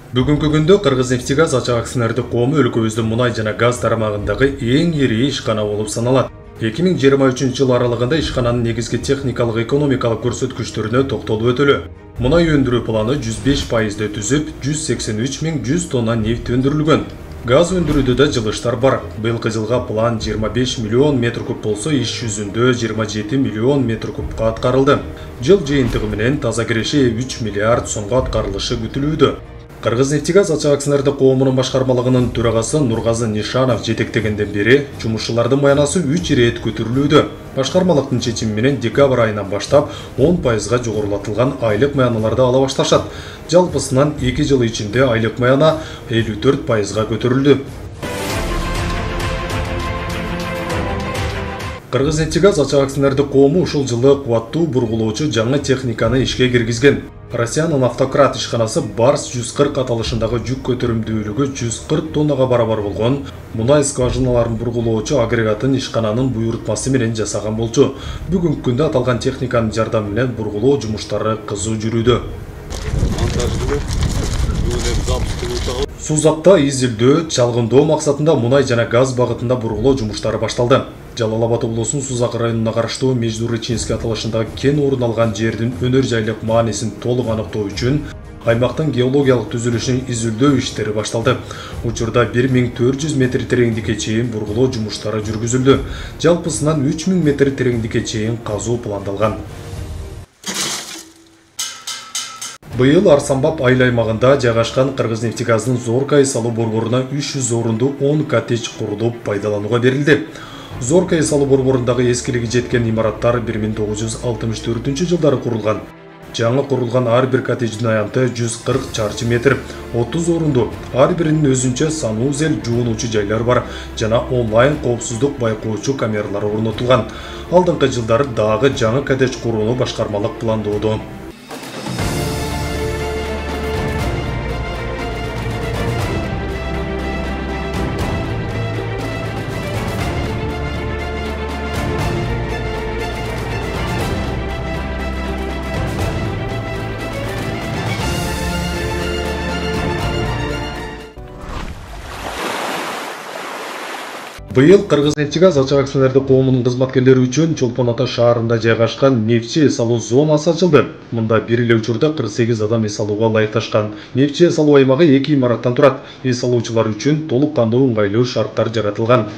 Бүгүнкү күндө Кыргыз-Нефтегаз ачык акционердик коому өлкөбүздүн мунай жана газ тарамагындагы эң ири ишкана болуп саналат. 2023 жыл аралыгында ишкананын негизги техникалык экономикалык көрсөткүчтөрүнө токтолуп өтөлү. Мунай өндүрүү планы 105% түзүп, 183.100 тонна нефть өндүрүлгөн. Газ өндүрүүдө да жылыштар бар. Быйылкы жылга план 25 миллион метр куб болсо, иш жүзүндө 27 миллион метр кубка аткарылды. Жыл жыйынтыгы менен таза киреше 3 миллиард сомго аткарылышы күтүлүүдө. Кыргыз-Нефтегаз ачык акционердик коомунун башкармалыгынын төрагасы Нургазы Нишанов жетектегенден бери жумушчулардын маянасы 3 ирет көтөрүлүүдө. Башкармалыктын чечими менен декабрь айынан баштап 10% жогорулатылган айлык маяналарды ала башташат. Жалпысынан 2 жыл ичинде айлык маяна 54% көтөрүлдү. Кыргыз-Нефтегаз ачык акционердик коому ушул жылы кубаттуу бургулоочу жаңы техниканы ишке киргизген. Россиянын автократ ишканасы Барс 140 аталышындагы жүк көтөрүмдүүлүгү 140 тоннага барабар болгон мунай скважиналарын бургулоочу агрегатын ишкананын буйрутмасы менен жасаган болчу. Бүгүнкү күндө аталган техниканын жардамы менен бургулоо жумуштары кызуу жүрүүдө. Сузакта изилдөө, чалгындоо максатында мунай жана газ багытында бургулоо жумуштары башталды. Жалал Абад облусунун Сузак районуна караштуу Междуречинский аталышындагы кен орун алган жердин өнөр жайлык маанисин толук аныктоо үчүн аймактын геологиялык түзүлүшүнүн изилдөө иштери башталды. Учурда 1400 метр тереңдикке чейин бургулоо жумуштары жүргүзүлдү. Жалпысынан 3000 метр тереңдикке чейин казуу пландалган. Быйыл Арсанбап айыл аймагында жайгашкан Кыргыз-Нефтегаздын Зоркай салуу борборуна 300 орунду 10 коттедж курулуп пайдаланууга берилди. Зоркай салуу борборундагы эскилиги жеткен имараттар 1964 жылдары курулган. Жаңы курулган ар бир коттедждин аянты 140 чарчы метр, 30 орунду, ар биринин өзүнчө санузел жуунуучу жайлар бар жана онлайн коопсуздук байкоочу камералар орнотулган. Алдыңкы жылдары дагы жаңы коттедж курууну башкармалык пландоодо. Быйыл Кыргыз-Нефтегаз ачык акционердик коомунун кызматкерлери үчүн Чолпон Ата шаарында жайгашкан нефтчи эс алуу зонасы ачылды. Мында бир эле учурда 48 адам эс алууга ылайыкташкан. Нефтчи эс алуу аймагы 2 имараттан турат. Эс алуучулар үчүн толук кандуу ыңгайлуу шарттар жаратылган.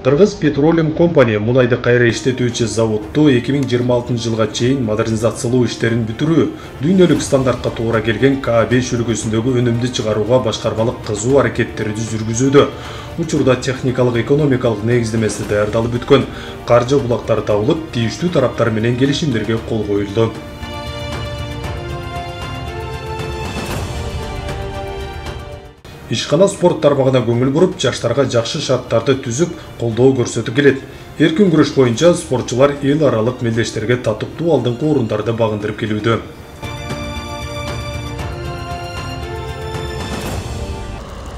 Кыргыз Petroleum Company мунайды кайра иштетүүчү заводду 2026 жылга чейин модернизациялоо иштерин бүтүрүү, дүйнөлүк стандартка туура келген К5 үлгүсүндөгү өнүмдү чыгарууга башкармалык кызуу аракеттерди жүргүзүүдө. Учурда техникалык экономикалык негиздемеси даярдалып бүткөн, каржы булактары табылып, тийиштүү тараптар менен келишимдерге кол коюлду. Ишкана спорт тармагына көңүл буруп, жаштарга жакшы шарттарды түзүп, колдоо көрсөтүп келет. Эркин күрөш боюнча спортчулар эл аралык мелдештерге татыктуу алдыңкы орундарды багындырып келүүдө.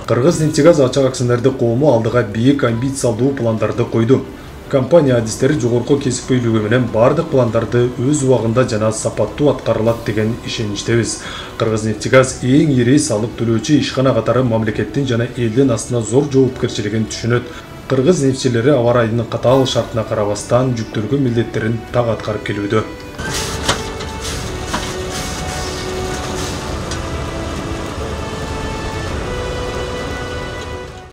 Кыргыз-Нефтегаз ачык акционердик коому алдыга бийик амбициялуу пландарды койду. Компания адистери жогорку кесипкөйлүгү менен бардык пландарды өз убагында жана сапаттуу аткарылат деген ишеничтебиз. Кыргыз-Нефтегаз эң ири салык төлөөчү ишкана катары мамлекеттин жана элдин астына зор жоопкерчилигин түшүнөт. Кыргыз нефтчилери аба ырайынын катаал шартына карабастан жүктөлгөн милдеттерин так аткарып келүүдө.